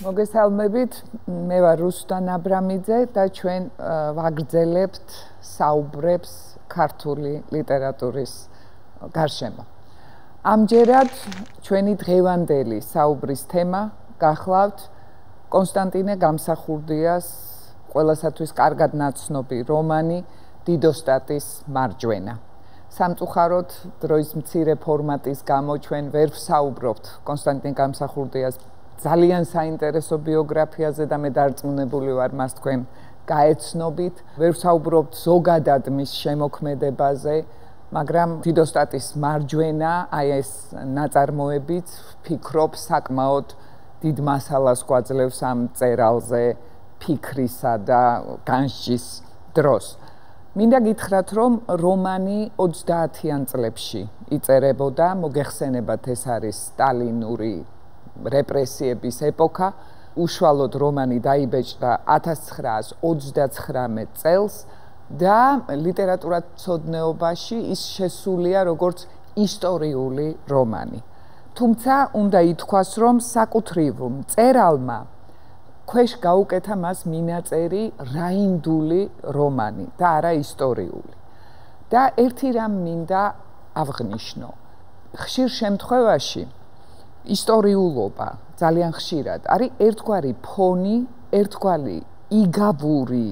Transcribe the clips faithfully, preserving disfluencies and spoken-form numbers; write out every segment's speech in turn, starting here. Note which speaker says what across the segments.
Speaker 1: მოგესალმებით, მე ვარ რუსტან აბრამიძე და ჩვენ ვაგრძელებთ საუბრებს ქართული ლიტერატურის გარშემო. ამჯერად ჩვენი დღევანდელი საუბრის თემა გახლავთ კონსტანტინე გამსახურდიას ყველასათვის კარგად ნაცნობი რომანი დიდოსტატის მარჯვენა. სამწუხაროდ დროის მცირე ფორმატის გამო ჩვენ ვერ ვსაუბრობთ კონსტანტინე გამსახურდიას ძალიან საინტერესო ბიოგრაფიაზე და მე დარწმუნებული ვარ მას თქვენ გაეცნობით. ვერ ვსაუბრობთ ზოგადად მის შემოქმედებაზე, მაგრამ დიდოსტატის მარჯვენა, აი ეს ნაწარმოებიც ვფიქრობ საკმაოდ დიდ მასალას გვაძლევს ამ წერალზე ფიქრისა და განსჯის დროს. მინდა გითხრათ, რომ რომანი ოცდაათიან წლებში იწერებოდა, მოგეხსენებათ ეს არის სტალინური რეპრესიების ეპოქა. უშუალოდ რომანი დაიბეჭდა ათას ცხრაას ოცდაცხრამეტ წელს და ლიტერატურათმცოდნეობაში ის შესულია როგორც ისტორიული რომანი. თუმცა უნდა ითქვას, რომ საკუთრივ მწერალმა ქვეშ გაუკეთა მას მინაწერი რაინდული რომანი და არა ისტორიული. და ერთი რამ მინდა აღვნიშნო. ხშირ შემთხვევაში ისტორიულობა ძალიან ხშირად არის ერთგვარი ფონი, ერთგვარი იგავური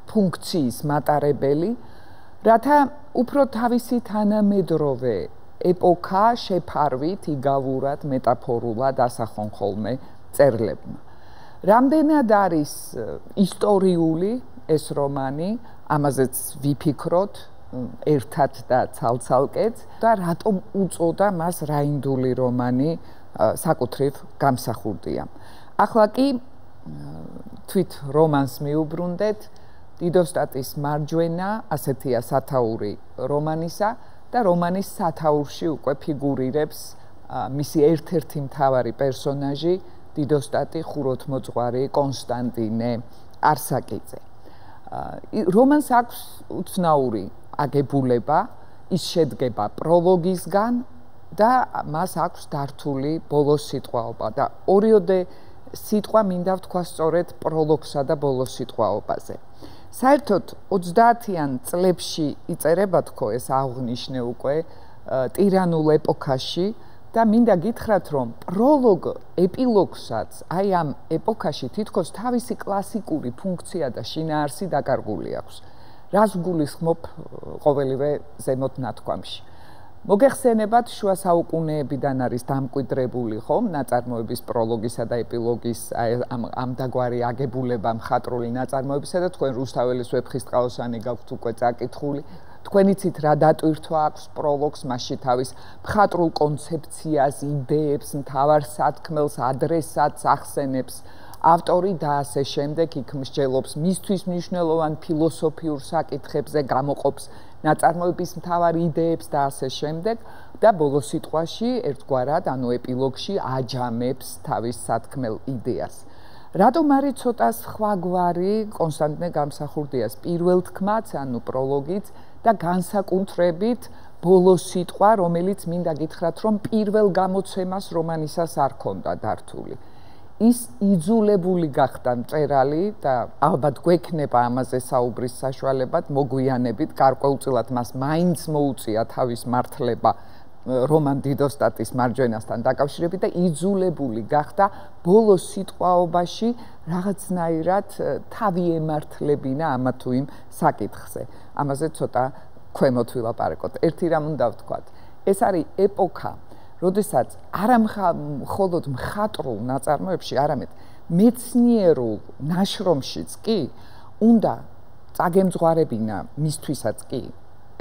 Speaker 1: ფუნქციის მატარებელი, რათა უფრო თავისი თანამედროვე ეპოქა შეფარვით იგავურად, მეტაფორულად ასახონ ხოლმე მწერლებმა. რამდენად არის ისტორიული ეს რომანი, ამაზეც ვიფიქროთ ერთად და ცალ-ცალკეც და რატომ უწოდა მას რაინდული რომანი საკუთრივ გამსახურდიამ. ახლა კი თვით რომანს მიუბრუნდეთ, დიდოსტატის მარჯვენა, ასეთია სათაური რომანისა და რომანის სათაურში უკვე ფიგურირებს მისი ერთ-ერთი მთავარი პერსონაჟი, დიდოსტატი ხუროთმოძღვარი კონსტანტინე არსაკიძე. რომანს აქვს უცნაური აგებულება, ის შედგება პროლოგისგან და მას აქვს დართული ბოლოს სიტყვაობა და ორიოდე სიტყვა მინდა ვთქვა სწორედ პროლოგსა და ბოლოს სიტყვაობაზე. საერთოდ ოცდაათიან წლებში იწერება თქო ეს აღვნიშნე უკვე ტირანულ ეპოქაში და მინდა გითხრათ, რომ პროლოგ ეპილოგსაც აი ამ ეპოქაში თითქოს თავისი კლასიკური ფუნქცია და შინაარსი დაკარგული აქვს. რას გულისხმობ ყოველივე ზემოთ ნათქვამში. მოგეხსენებათ, შუა საუკუნეებიდან არის დამკვიდრებული ხომ ნაწარმოების პროლოგისა და ეპილოგის ამ ამდაგვარი აგებულება მხატვრული ნაწარმოებისა და თქვენ რუსთაველის ვეფხისტყაოსანი გაქვთ უკვე წაკითხული. თქვენ იცით რა დატვირთვა აქვს პროლოგს, მასში თავის მხატვრულ კონცეფციას, იდეებს, მთავარ სათქმელს, ადრესატს ახსენებს ავტორი და ასე შემდეგ, იქ მსჯელობს მისთვის მნიშვნელოვან ფილოსოფიურ საკითხებზე, გამოყოფს ნაწარმოების მთავარ იდეებს და ასე შემდეგ და ბოლოს სიტყვაში ერთგვარად, ანუ ეპილოგში აჯამებს თავის სათქმელ იდეას. რატომ არის ცოტა სხვაგვარი კონსტანტინე გამსახურდიას პირველ თქმაც, ანუ პროლოგიც და განსაკუთრებით ბოლოს სიტყვა, რომელიც მინდა გითხრათ, რომ პირველ გამოცემას რომანისას არ ქონდა დართული. ის იძულებული გახდა მწერალი და ალბათ გვექნება ამაზე საუბრის საშუალებად, მოგვიანებით, გარკვეულწილად მას მაინც მოუწია თავის მართლება რომან დიდოსტატის მარჯვენასთან დაკავშირებით და იძულებული გახდა ბოლოს სიტყვაობაში რაღაცნაირად თავი ემართლებინა ამა თუ იმ საკითხზე. ამაზე ცოტა ქვემოთ ვილაპარაკოთ. ერთი რამ უნდა ვთქვათ, ეს არის ეპოქა, როდესაც არა მხოლოდ მხატვრულ ნაწარმოებში, არამედ მეცნიერულ ნაშრომშიც კი უნდა წაგემძღვარებინა მისთვისაც კი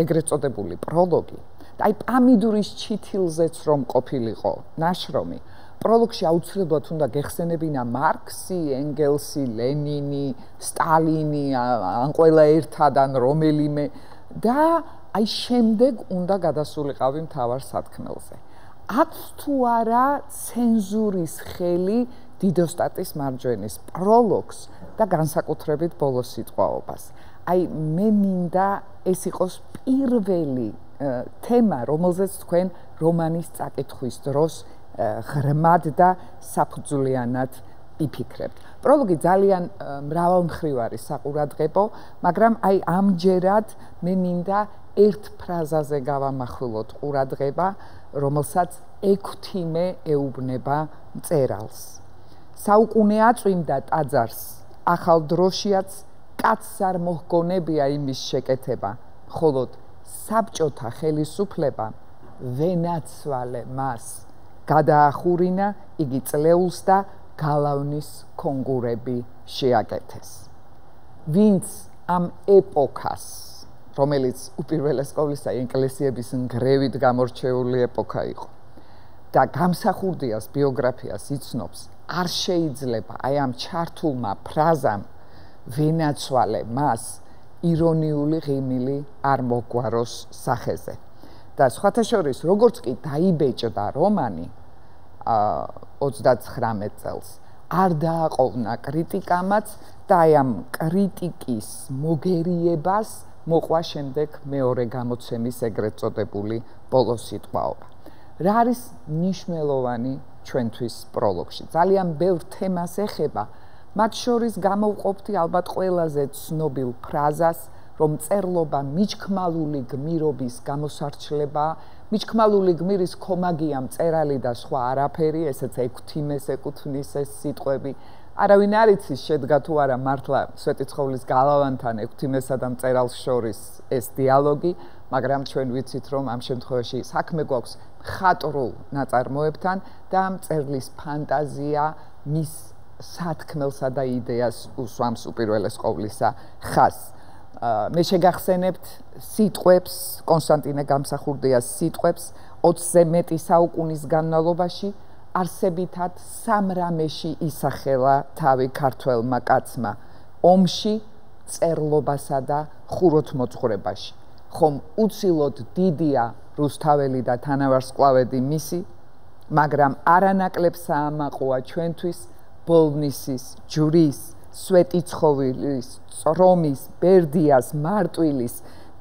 Speaker 1: ეგრეთ წოდებული პროლოგი. და აი პამიდურის ჩითილზეც რომ ყოფილიყო ნაშრომი, პროლოგში აუცილებლად უნდა გეხსენებინა მარქსი, ენგელსი, ლენინი, სტალინი, ან ყველა ერთად ან რომელიმე და აი შემდეგ უნდა გადასულიყავი მთავარ სათქმელზე. აქვს თუ არა ცენზურის ხელი დიდოსტატის მარჯვენის პროლოგს და განსაკუთრებით ბოლოს სიტყვაობას. აი მე მინდა ეს იყოს პირველი თემა, რომელზეც თქვენ რომანის წაკითხვის დროს ღრმად და საფუძვლიანად იფიქრებთ. პროლოგი ძალიან მრავალმხრივარი საყურადღებო, მაგრამ აი ამჯერად მე მინდა ერთ ფრაზაზე გავამახვილოთ ყურადღება, რომელსაც ექვთიმე ეუბნება მწერალს. საუკუნე აწვიმდა ტაძარს, ახალ დროშიაც კაცს არ მოჰგონებია იმის შეკეთება, მხოლოდ საბჭოთა ხელისუფლება ვენაცვალე მას, გადაახურინა იგი წლეულს და გალავნის კონგურები შეაკეთეს. ვინც ამ ეპოქას, რომელიც უპირველეს ყოვლისა ეკლესიების ნგრევით გამორჩეული ეპოქა იყო და გამსახურდიას ბიოგრაფიას იცნობს, არ შეიძლება აი ამ ჩართულმა ფრაზამ ვენაცვალე მას ირონიული ღიმილი არ მოგვაროს სახეზე. და სხვათა შორის, როგორც კი დაიბეჭდა რომანი ოცდაცხრამეტ წელს, არ დააყოვნა კრიტიკამაც და აი ამ კრიტიკის მოგერიებას მოყვა შემდეგ მეორე გამოცემის ეგრეთ წოდებული ბოლოსიტყვაობა. რა არის მნიშვნელოვანი ჩვენთვის პროლოგში? ძალიან ბევრ თემას ეხება, მათ შორის გამოვყოფთ ალბათ ყველაზე ცნობილ ფრაზას, რომ წერლობა მიჩქმალული გმირობის გამოსარჩლება, მიჩქმალული გმირის ქომაგია მწერალი და სხვა არაფერი, ესეც ექვთიმეს ეკუთვნის ეს სიტყვები. არავინ არ იცის შედგა თუ არა მართლა სვეტიცხოვლის გალავანთან ექვთიმესა და მწერალს შორის ეს დიალოგი, მაგრამ ჩვენ ვიცით, რომ ამ შემთხვევაში საქმე გვაქვს მხატვრულ ნაწარმოებთან და მწერლის ფანტაზია მის სათქმელსა და იდეას უსვამს უპირველეს ყოვლისა ხაზს. მე შეგახსენებთ სიტყვებს, კონსტანტინე გამსახურდიას სიტყვებს ოცზე მეტი საუკუნის განმავლობაში არსებითად სამრამეში ისახელა თავი ქართველმა კაცმა, ომში, წერლობასა და ხუროთმოძღვრებაში. ხომ უცილოდ დიდია რუსთაველი და თანავარსკვლავედი მისი, მაგრამ არანაკლებ საამაყოა ჩვენთვის ბოლნისის, ჯვრის, სვეტიცხოვლის, წრომის, ბერდიას, მარტვილის,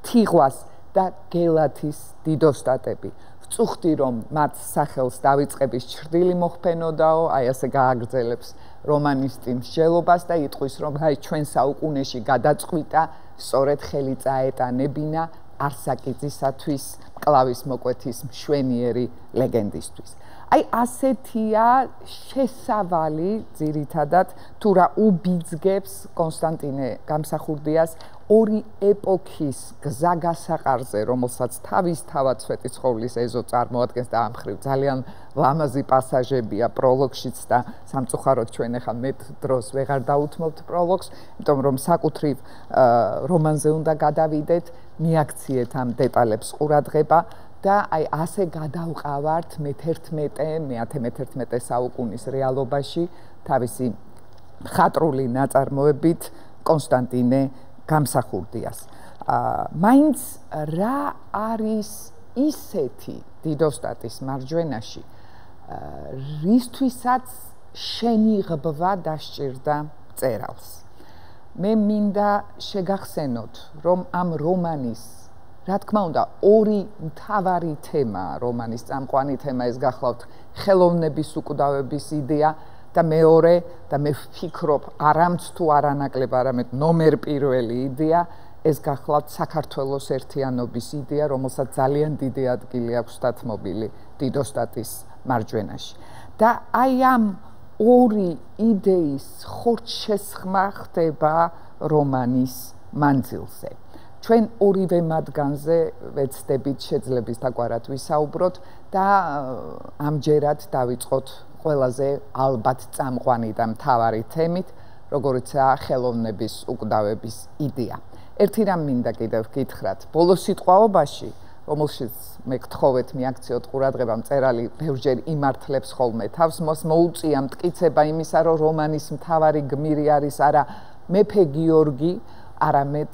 Speaker 1: თიღვას და გელათის დიდოსტატები. ვწუხდი, რომ მათ სახელს დავიწყების ჩრდილი მოხფენოდაო, აი ასე გააგრძელებს რომანისტი მსჯელობას და იტყვის, რომ აი ჩვენ საუკუნეში გადაწყვიტა სწორედ ხელი წაეტანებინა არსაკიძისათვის მკლავის მოკვეთის მშვენიერი ლეგენდისთვის. აი ასეთია შესავალი ძირითადად თუ რა უბიძგებს კონსტანტინე გამსახურდიას ორი ეპოქის გზაგასაყარზე, რომელსაც თავისთავად სვეტიცხოვლის ეზო წარმოადგენს და ამ მხრივ ძალიან ლამაზი პასაჟებია პროლოგშიც და სამწუხაროდ ჩვენ ახლა მეტ დროს ვეღარ დაუთმობთ პროლოგს, იმიტომ რომ საკუთრივ რომანზე უნდა გადავიდეთ, მიაქციეთ ამ დეტალებს ყურადღება და აი ასე გადავყავართ მეთერთმეტე, მეათე მეთერთმეტე საუკუნის რეალობაში თავისი მხატვრული ნაწარმოებით კონსტანტინე გამსახურდიას. მაინც რა არის ისეთი დიდოსტატის მარჯვენაში, რისთვისაც შენიღბვა დასჭირდა მწერალს. მე მინდა შეგახსენოთ, რომ ამ რომანის რა თქმა უნდა, ორი მთავარი თემაა რომანის წამყვანი თემა, ეს გახლავთ ხელოვნების უკვდავების იდეა და მეორე და მე ვფიქრობ, არამც თუ არანაკლებ, არამედ ნომერ პირველი იდეა, ეს გახლავთ საქართველოს ერთიანობის იდეა, რომელსაც ძალიან დიდი ადგილი აქვს დათმობილი დიდოსტატის მარჯვენაში. და აი ამ ორი იდეის ხორცშესხმა ხდება რომანის მანძილზე. ჩვენ ორივე მათგანზე ვეცდებით შეძლების დაგვარად ვისაუბროთ და ამჯერად დავიწყოთ ყველაზე ალბათ წამყვანი და მთავარი თემით, როგორიცაა ხელოვნების უკვდავების იდეა. ერთი რამ მინდა კიდევ გითხრათ, ბოლოს სიტყვაობაში, რომელშიც მე გთხოვეთ მიაქციოთ ყურადღება, მწერალი ბევრჯერ იმართლებს ხოლმე თავს, მას მოუწია მტკიცება იმისა, რომ რომანის მთავარი გმირი არის არა მეფე გიორგი, არამედ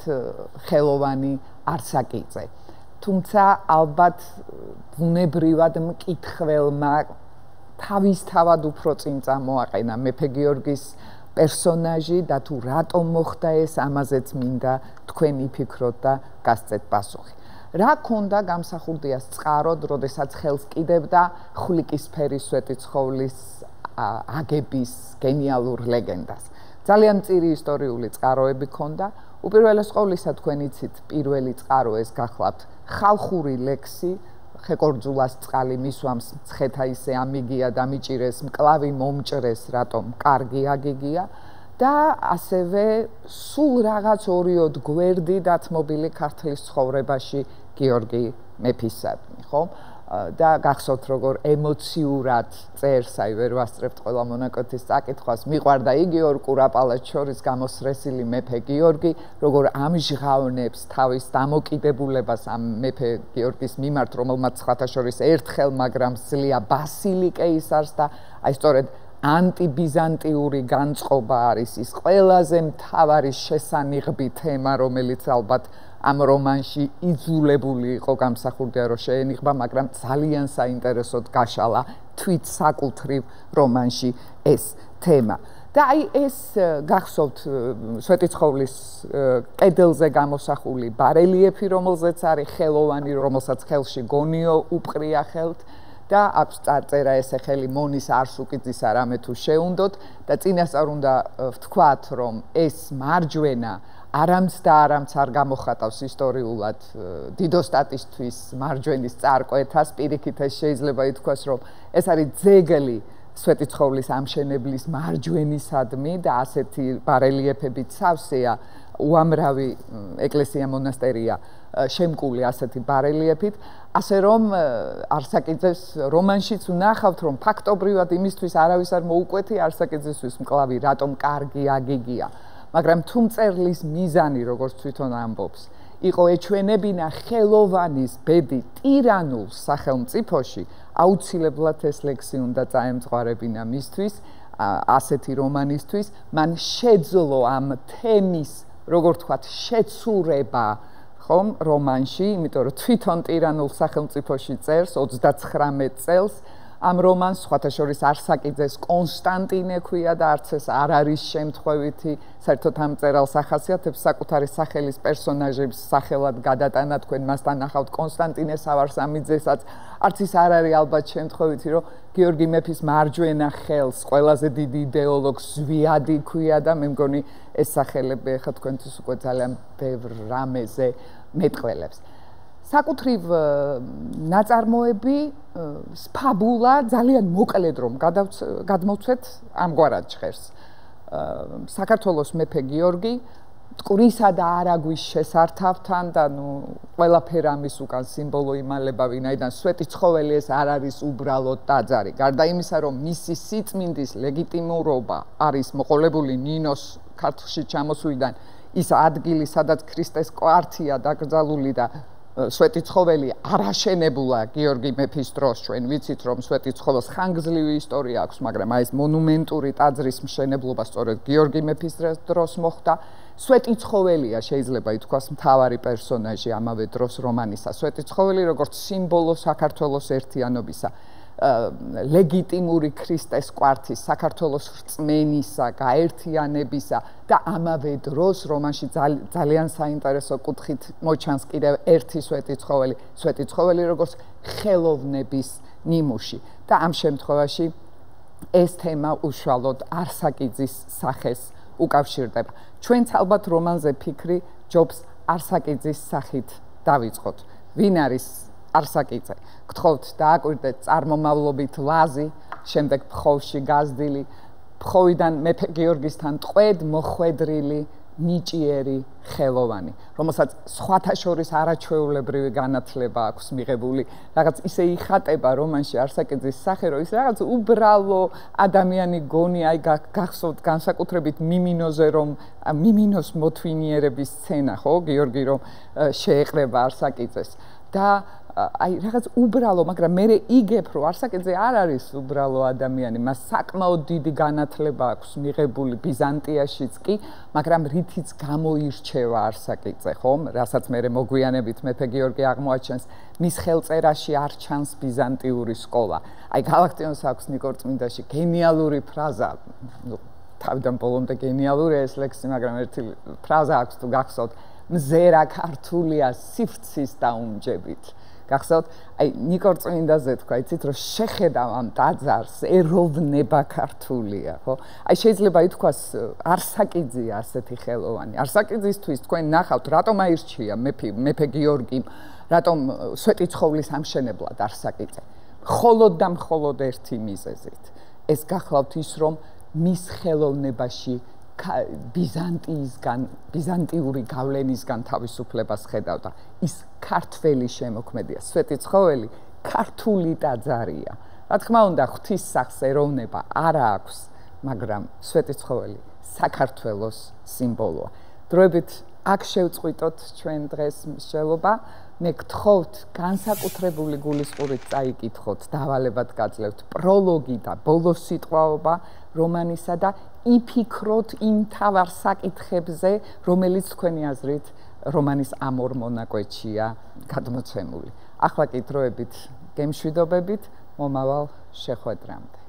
Speaker 1: ხელოვანი არსაკიძე. თუმცა ალბათ ბუნებრივად მკითხველმა თავისთავად უფრო წინ წამოაყენა მეფე გიორგის პერსონაჟი და თუ რატომ მოხდა ეს, ამაზეც მინდა თქვენ იფიქროთ და გასცეთ პასუხი. რა ქონდა გამსახურდიას წყაროდ, როდესაც ხელს კიდევდა ხვლიკის ფერის სვეტიცხოვლის აგების გენიალურ ლეგენდას. ძალიან მწირი ისტორიული წყაროები ქონდა. უპირველეს ყოვლისა თქვენ იცით, პირველი წყარო ეს გახლავთ ხალხური ლექსი, ხეკორძულას წყალი მისვამს მცხეთა ისე ამიგია და მიჭირეს, მკლავი მომჭრეს, რატომ კარგი აგიგია და ასევე სულ რაღაც ორიოდ გვერდი დათმობილი ქართლის ცხოვრებაში გიორგი მეფისადმი, ხო? და გახსოვთ როგორ ემოციურად წერს, აი ვერ ვასწრებთ ყველა მონაკვეთის წაკითხვას, მიყვარდა იგი ორ კურაპალატს შორის გამოსრესილი მეფე გიორგი, როგორ ამჟღავნებს თავის დამოკიდებულებას ამ მეფე გიორგის მიმართ, რომელმაც სხვათა შორის ერთხელ, მაგრამ სძლია ბასილი კეისარს და აი სწორედ ანტიბიზანტიური განწყობა არის ის ყველაზე მთავარი შესანიღბი თემა, რომელიც ალბათ ამ რომანში იძულებული იყო გამსახურდია რომ შეენიღბა, მაგრამ ძალიან საინტერესოდ გაშალა თვით საკუთრივ რომანში ეს თემა. და აი ეს გახსოვთ სვეტიცხოვლის კედელზე გამოსახული ბარელიეფი, რომელზეც არის ხელოვანი, რომელსაც ხელში გონიო უპყრია ხელთ და აქვს წარწერა ესე ხელი მონის არსუკიძისა რამე თუ შეუნდოთ და წინასწარ უნდა ვთქვათ, რომ ეს მარჯვენა არამც და არამც არ გამოხატავს ისტორიულად დიდოსტატისთვის მარჯვენის წარკვეთას, პირიქით ეს შეიძლება ითქვას, რომ ეს არის ძეგლი სვეტიცხოვლის ამშენებლის მარჯვენისადმი და ასეთი ბარელიეფებით სავსეა უამრავი ეკლესია მონასტერია შემკული ასეთი ბარელიეფით, ასე რომ არსაკიძეს რომანშიც ვნახავთ, რომ ფაქტობრივად იმისთვის არავის არ მოუკვეთი არსაკიძესთვის მკლავი რატომ კარგი აგიგია. მაგრამ თუ მწერლის მიზანი, როგორც თვითონ ამბობს, იყო ეჩვენებინა ხელოვანის ბედი ტირანულ სახელმწიფოში, აუცილებლად ეს ლექსი უნდა წაემწყარებინა მისთვის, ასეთი რომანისთვის, მან შეძლო ამ თემის, როგორ ვთქვათ, შეცურება, ხომ, რომანში, იმიტომ რომ თვითონ ტირანულ სახელმწიფოში წერს ოცდაცხრამეტ წელს, ამ რომანს სხვათა შორის არსაკიძეს კონსტანტინე ქვია და არც ეს არ არის შემთხვევითი, საერთოდ ამ მწერალს ახასიათებს საკუთარი სახელის პერსონაჟების სახელად გადატანა, თქვენ მასთან ნახავთ კონსტანტინე სავარსამიძესაც, არც ის არ არის ალბათ შემთხვევითი, რომ გიორგი მეფის მარჯვენა ხელს ყველაზე დიდი იდეოლოგს ზვიადი ქვია და მე მგონი ეს სახელები ახლა თქვენთვის უკვე ძალიან ბევრ რამეზე მეტყველებს. საკუთრივ ნაწარმოები, ფაბულა ძალიან მოკლედ რომ გადმოვცეთ ამგვარად ჟღერს. საქართველოს მეფე გიორგი მტკვრისა და არაგვის შესართავთან და ნუ ყველაფერ ამის უკან სიმბოლო იმალება, ვინაიდან სვეტიცხოველი ეს არ არის უბრალოდ ტაძარი. გარდა იმისა, რომ მისი სიწმინდის ლეგიტიმურობა არის მოყოლებული ნინოს ქართლში ჩამოსვლიდან, ის ადგილი, სადაც ქრისტეს კვართია დაკრძალული და სვეტიცხოველი არ აშენებულა გიორგი მეფის დროს, ჩვენ ვიცით რომ სვეტიცხოველს ხანგრძლივი ისტორია აქვს, მაგრამ აი ეს მონუმენტური ტაძრის მშენებლობა სწორედ გიორგი მეფის დროს მოხდა. სვეტიცხოველია შეიძლება ითქვას მთავარი პერსონაჟი ამავე დროს რომანისა. სვეტიცხოველი როგორც სიმბოლო საქართველოს ერთიანობისა, ლეგიტიმური ქრისტეს კვართის, საქართველოს რწმენისა, გაერთიანებისა და ამავე დროს რომანში ძალიან საინტერესო კუთხით მოჩანს კიდევ ერთი სვეტიცხოველი, სვეტიცხოველი როგორც ხელოვნების ნიმუში და ამ შემთხვევაში ეს თემა უშუალოდ არსაკიძის სახეს უკავშირდება. ჩვენც ალბათ რომანზე ფიქრი ჯობს არსაკიძის სახით დავიწყოთ. ვინ არის არსაკიძე? გთხოვთ დააკვირდეთ წარმომავლობით ლაზი, შემდეგ ფხოვში გაზრდილი, ფხოვიდან მეფე გიორგისთან ტყვედ მოხვედრილი ნიჭიერი ხელოვანი, რომელსაც სხვათა შორის არაჩვეულებრივი განათლება აქვს მიღებული. რაღაც ისე იხატება რომანში არსაკიძის სახე, რომ ის რაღაც უბრალო ადამიანი გონი, აი გახსოვთ განსაკუთრებით მიმინოზე, რომ მიმინოს მოთვინიერების სცენა, ხო, გიორგი რომ შეეყრება არსაკიძეს და აი რაღაც უბრალო, მაგრამ მე იგებ რომ არსაკიძე არ არის უბრალო ადამიანი, მას საკმაოდ დიდი განათლება აქვს მიღებული ბიზანტიაშიც კი, მაგრამ რითიც გამოირჩევა არსაკიძე, ხომ? რასაც მე მოგვიანებით მეფე გიორგი აღმოაჩენს, მის ხელწერაში არ ჩანს ბიზანტიური სკოლა. აი გალაქტიონს აქვს ნიკორწმინდაში გენიალური ფრაზა, ნუ თავიდან ბოლომდე გენიალურია ეს ლექსი, მაგრამ ერთი ფრაზა აქვს თუ გახსოვთ, მზერა ქართულია სიფრცის დაუნჯებით. გახსოვთ, აი ნიკორ წმინდაზე თქვა, იცით, რომ შეხედავ ამ ტაძარს, ეროვნება ქართულია, ხო? აი შეიძლება ითქვას, არსაკიძეა ასეთი ხელოვანი. არსაკიძისთვის თქვენ ნახავთ, რატომ აირჩია მეფე მეფე გიორგიმ, რატომ სვეტიცხოვლის ამშენებლად არსაკიძე. მხოლოდ და მხოლოდ ერთი მიზეზით. ეს გახლავთ ის, რომ მის ხელოვნებაში ბიზანტიისგან, ბიზანტიური გავლენისგან თავისუფლებას ხედავდა. ის ქართველი შემოქმედია, სვეტიცხოველი ქართული ტაძარია. რა თქმა უნდა, ღვთისმსახს ეროვნება არა აქვს, მაგრამ სვეტიცხოველი საქართველოს სიმბოლოა. დროებით აქ შევწყვიტოთ ჩვენ დღეს მსვლელობა. მე გთხოვთ, განსაკუთრებული გულისყურით წაიკითხოთ, დავალებად გაძლევთ პროლოგი და ბოლოს სიტყვაობა რომანისა და იფიქროთ იმ მთავარ საკითხებზე, რომელიც თქვენი აზრით რომანის ამ ორ მონაკვეთშია გადმოცემული. ახლა კი დროებით გემშვიდობებით, მომავალ შეხვედრამდე.